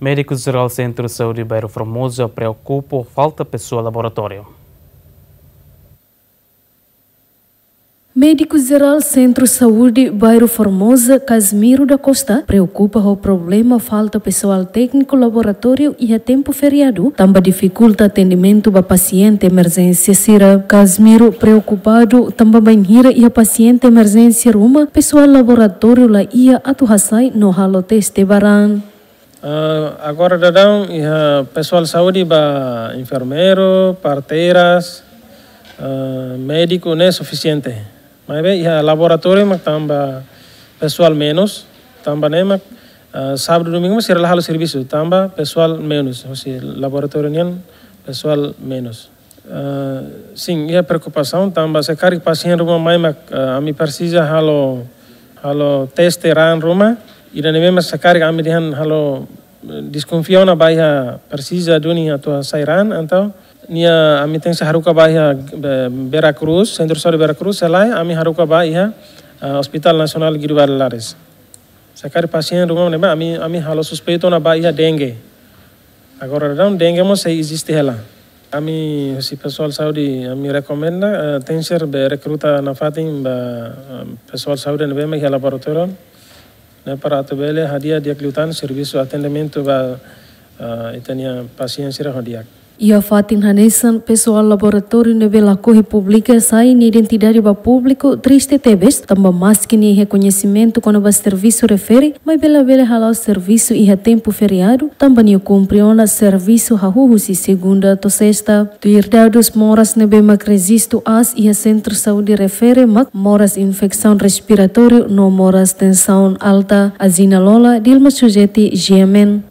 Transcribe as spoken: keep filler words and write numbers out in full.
Médiku Jerál Sentru Saúde Bairru Formosa preokupa falta pesoál laboratóriu. Médiku Jerál Sentru Saúde Bairru Formosa, Casimiro da Costa, preokupa ho problema falta pesoál tékniku laboratóriu iha tempu feriadu, tanba difikulta atendimentu ba pasiente emerjénsia sira. Casimiro preokupadu tanba bainhira iha pasiente emerjénsia ruma, pesoál laboratóriu la iha atu hasai no halo teste ba raan. Ah, agora daudaun iha pesoál saúde ba enfermeiru, parteiras, ah, médiku ne'e sufisiente. Maibé iha laboratóriu mak tanba pesoál menus, tanba ne'e mak, ah, sábadu domingu mak sira la halo servisu, tanba pesoál menus, husi laboratóriu nian pesoál menus. Ah, sin, iha preokupasaun tanba se karik pasiente ruma mai mak, ah, ami presiza halo, halo teste raan ruma, ida ne'ebé mak se karik ami dehan halo, eh, deskonfia ona ba iha presiza duni atu hasai raan, entaun nia ami tenke haruka ba iha, eh, Vera Cruz, Sentru Saúde Vera Cruz, se lae ami haruka ba iha, ah, Hospital Nasionál Guido Valadares. Se karik pasiente ruma ne'ebá ami, ami halo suspeitu ona ba iha dengue. Agora daudaun dengue mós sei eziste hela. Ami, husi pesoál saúde, ami rekomenda, eh, tenke ser be rekruta nafatin ba, eh, pesoál saúde ne'ebé mak iha laboratóriu ne'e para atu bele hadi'a di'ak liután servisu atendimentu ba, eh, ita-nia pasiente sira ho di'ak. Iha fatin hanesan, pesoál laboratóriu ne'ebé lakohi publika sai nia identidade ba públiku triste tebes, tanba maski nia iha koñesimentu kona-ba servisu refere, maibé labele hala'o servisu iha tempu feriadu, tanba nia kumpre ona servisu hahú husi segunda to'o sesta. Tuir dadus, moras ne'ebé mak rejistu aas iha sentru saúde refere mak moras infesaun respiratóriu no moras tensaun alta. Azina Lola, Dilma Sujeti, G M N.